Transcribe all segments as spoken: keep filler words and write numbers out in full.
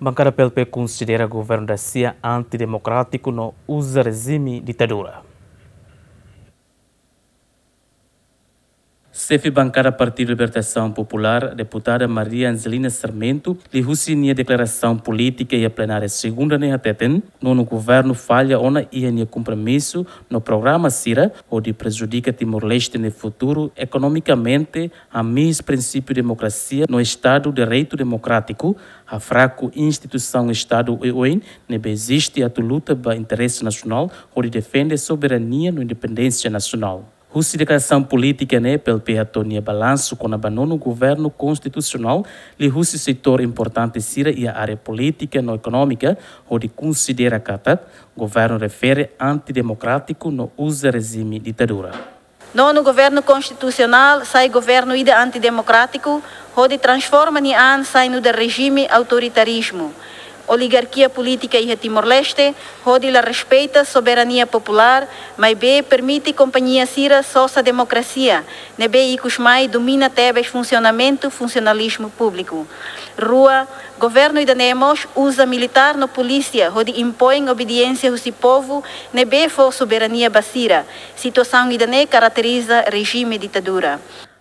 Bankada P L P konsidera governu dasia antidemokrátiku no uza rejime ditadura. Xefe bankada Partidu Libertasaun Populár, deputada Maria Angelina Sarmento, liuhusi nia deklarasaun polítika iha plenária segunda ne'e hateten, nonu governu falla ona iha nia kompromisu no programa sira hodi prejudika Timor-Leste nia futuru ekonomikamente, hamihis prinsípiu demokrasia no Estadu Direitu Demokrátiku, hafraku instituisaun Estadu oioin ne'ebé eziste atu luta ba interese nasionál hodi defende soberania no independénsia nasionál. Husi deklarasaun polítika ne'e, P L P hato'o nia balansu kona-ba nonu governu konstitusionál liuhusi setór importante sira iha área polítika no ekonómika, hodi konsidera katak governu refere antidemokrátiku no uza rejime ditadura. Nonu governu konstitusionál sai governu ida antidemokrátiku, hodi transforma nia an sai nu'udar rejime autoritarizmu, oligarkia polítika iha Timor-Leste, hodi la respeita soberania populár, maibé permite kompañia sira sosa demokrasia, ne'ebé ikus mai domina tebes funsionamentu funsionalizmu públiku. Rua, governu ida-ne'e mós uza militár no polísia hodi impoin obediénsia husi povu, ne'ebé fó soberania ba sira. Situasaun ida-ne'e karakteriza rejime ditadura.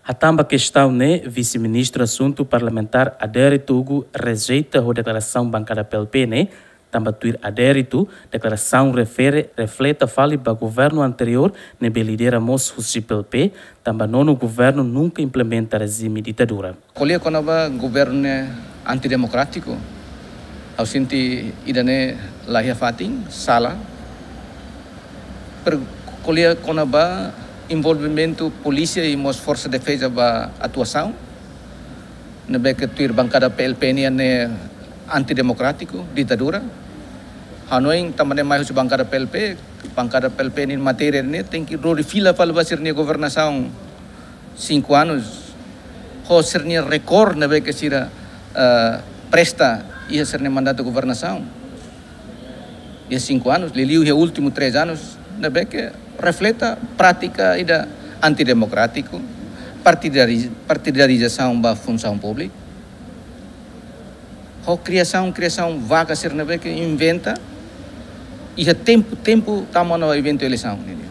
Hatán ba kestaun ne'e, Vise-Ministru Asuntu Parlamentár Adérito Hugo rejeita ho deklarasaun bankada P L P ne'e, tanba tuir Adérito, deklarasaun refere refleta fali ba governu anteriór ne'ebé lidera mós husi P L P, tanba nonu governu nunka implementa rejime ditadura. Ko'alia kona-ba governu ne'e antidemokrátiku, ha'u sente ida-ne'e la iha fatin, sala. Pero ko'alia kona-ba envolvimentu polísia i mós forsa defeza ba atuasaun, ne'ebé ke tuir bankada P L P nian ne'e antidemokrátiku, ditadura. Hanoin tanba ne'e mai husi bankada P L P, bankada P L P nian matéria ne'e tenke lori fila fali ba sira-nia governasaun cinco anos, ho sira-nia rekorde ne'ebé ke sira, eh, presta iha sira-nia mandatu governasaun iha cinco anos, liuliu iha últimu três anos, ne'ebé ke refleta prátika ida antidemokrátiku, partidari-, partidarizasaun ba funsaun públika, ho kriasaun, kriasaun vaga sira ne'ebé ke inventa iha tempu, tempu tama ona eventu eleisaun nian.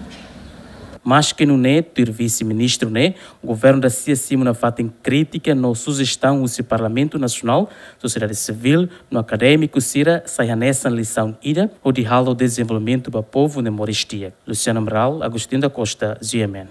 Maske nune'e, tuir Vise-Ministru ne'e, governu dasia simu nafatin krítika no sujestaun husi Parlamentu Nasionál, sosiedade sivíl no akadémiku sira sai hanesan lisaun ida hodi halo dezenvolvimentu ba povu ne'e moris di'ak. Luciano Amaral, Agostinho da Costa, G M N.